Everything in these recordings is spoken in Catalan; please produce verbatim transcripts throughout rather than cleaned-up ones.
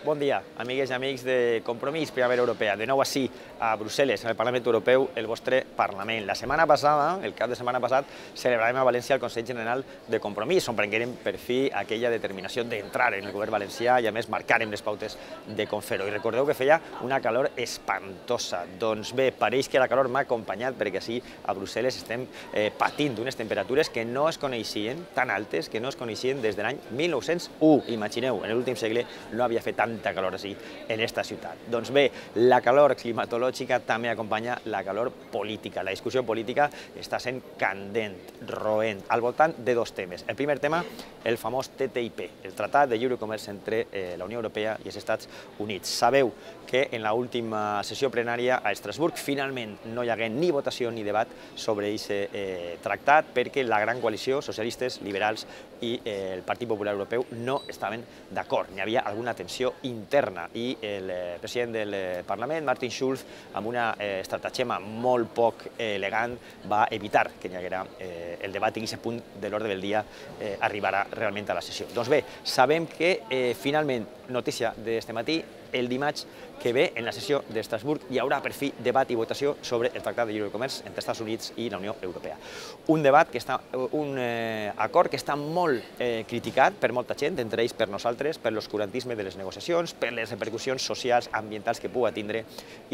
Bon dia, amigues i amics de Compromís Primavera Europea. De nou així, a Brussel·les, en el Parlament Europeu, el vostre Parlament. La setmana passada, el cap de setmana passat, celebràvem a València el Consell General de Compromís, on prenguérem per fi aquella determinació d'entrar en el govern valencià i, a més, marcàrem les pautes de com fer-ho. I recordeu que feia una calor espantosa. Doncs bé, pareix que la calor m'ha acompanyat, perquè així a Brussel·les estem eh, patint d'unes temperatures que no es coneixien, tan altes, que no es coneixien des de l'any mil nou-cents u. Imagineu, en l'últim segle no havia fet tanta calor així en esta ciutat. Doncs bé, la calor climatològica també acompanya la calor política. La discussió política està sent candent, roent, al voltant de dos temes. El primer tema, el famós T T I P, el Tractat de Lliure Comerç entre eh, la Unió Europea i els Estats Units. Sabeu que en l'última sessió plenària a Estrasburg finalment no hi hagué ni votació ni debat sobre aquest eh, tractat perquè la gran coalició, socialistes, liberals i eh, el Partit Popular Europeu no estaven d'acord. N'hi havia alguna tensió interna i el eh, president del eh, Parlament, Martin Schulz, amb una eh, estratagema molt poc eh, elegant, va evitar que hi haguera eh, el debat i aquest punt de l'ordre del dia eh, arribarà realment a la sessió. Doncs bé, sabem que eh, finalment, notícia d'este matí, el dimarts que ve, en la sessió d'Estrasburg, hi haurà per fi debat i votació sobre el Tractat de Lliure Comerç entre els Estats Units i la Unió Europea. Un debat, que està, un eh, acord que està molt eh, criticat per molta gent, entre ells per nosaltres, per l'oscurantisme de les negociacions, per les repercussions socials, ambientals que pugui tindre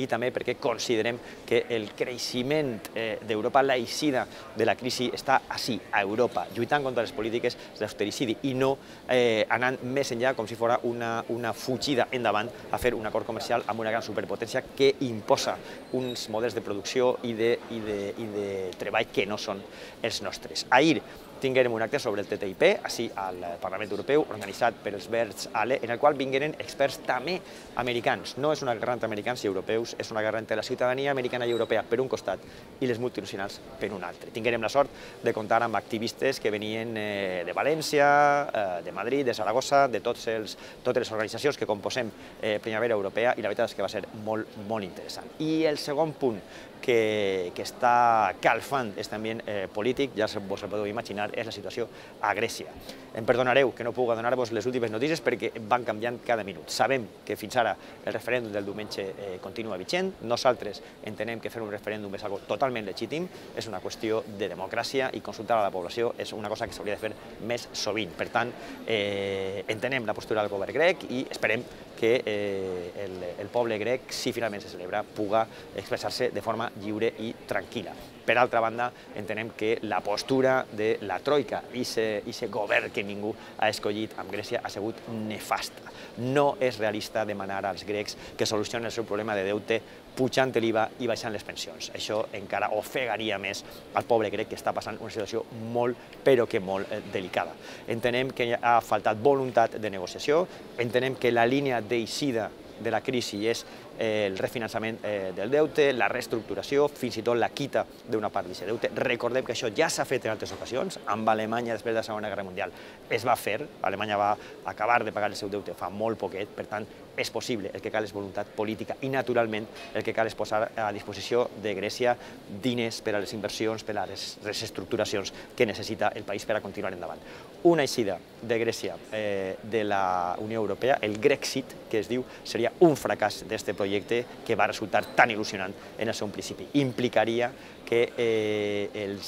i també perquè considerem que el creixement eh, d'Europa, la eixida de la crisi, està així, a Europa, lluitant contra les polítiques d'austericidi i no eh, anant més enllà com si fos una, una fugida endavant a fer un acord comercial amb una gran superpotència que imposa uns models de producció i de, i de, i de treball que no són els nostres. Ahir tinguérem un acte sobre el T T I P, així al Parlament Europeu, organitzat per els Verds Ale, en el qual vingueren experts també americans. No és una guerra entre americans i europeus, és una guerra entre la ciutadania americana i europea per un costat i les multinacionals per un altre. Tinguérem la sort de comptar amb activistes que venien eh, de València, eh, de Madrid, de Saragossa, de tots els, totes les organitzacions que composem eh, Primavera Europea, i la veritat és que va ser molt, molt interessant. I el segon punt que, que està calfant aquest ambient eh, polític, ja vos el podeu imaginar, és la situació a Grècia. Em perdonareu que no puc donar-vos les últimes notícies perquè van canviant cada minut. Sabem que fins ara el referèndum del diumenge eh, continua vigent. Nosaltres entenem que fer un referèndum és algo totalment legítim, és una qüestió de democràcia i consultar a la població és una cosa que s'hauria de fer més sovint. Per tant, eh, entenem la postura del govern grec i esperem que eh, el, el poble grec, si finalment se celebra, puga expressar-se de forma lliure i tranquil·la. Per altra banda, entenem que la postura de la Troika i aquest govern que ningú ha escollit amb Grècia ha sigut nefasta. No és realista demanar als grecs que solucionin el seu problema de deute pujant l'I V A i baixant les pensions. Això encara ofegaria més al poble grec, que està passant una situació molt, però que molt delicada. Entenem que ha faltat voluntat de negociació, entenem que la línia d'eixida de la crisi és el refinançament del deute, la reestructuració, fins i tot la quita d'una part d'aquest deute. Recordem que això ja s'ha fet en altres ocasions. Amb Alemanya, després de la Segona Guerra Mundial, es va fer. Alemanya va acabar de pagar el seu deute fa molt poquet, per tant, és possible. El que cal és voluntat política i, naturalment, el que cal és posar a disposició de Grècia diners per a les inversions, per a les reestructuracions que necessita el país per a continuar endavant. Una eixida de Grècia de la Unió Europea, el Grexit, que es diu, seria un fracàs d'aquest projecte que va resultar tan il·lusionant en el seu principi. Implicaria que eh, el,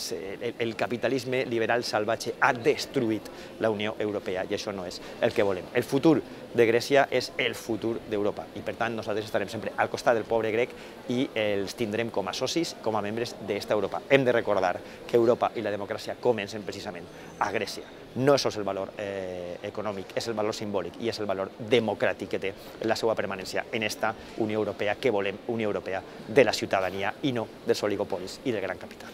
el capitalisme liberal salvatge ha destruït la Unió Europea i això no és el que volem. El futur de Grècia és el futur d'Europa i per tant nosaltres estarem sempre al costat del poble grec i els tindrem com a socis, com a membres d'esta Europa. Hem de recordar que Europa i la democràcia comencen precisament a Grècia. No és sols el valor eh, econòmic, és el valor simbòlic i és el valor democràtic que té la seva permanència en esta Unió Europea que volem, Unió Europea de la ciutadania i no dels oligopolis i del gran capital.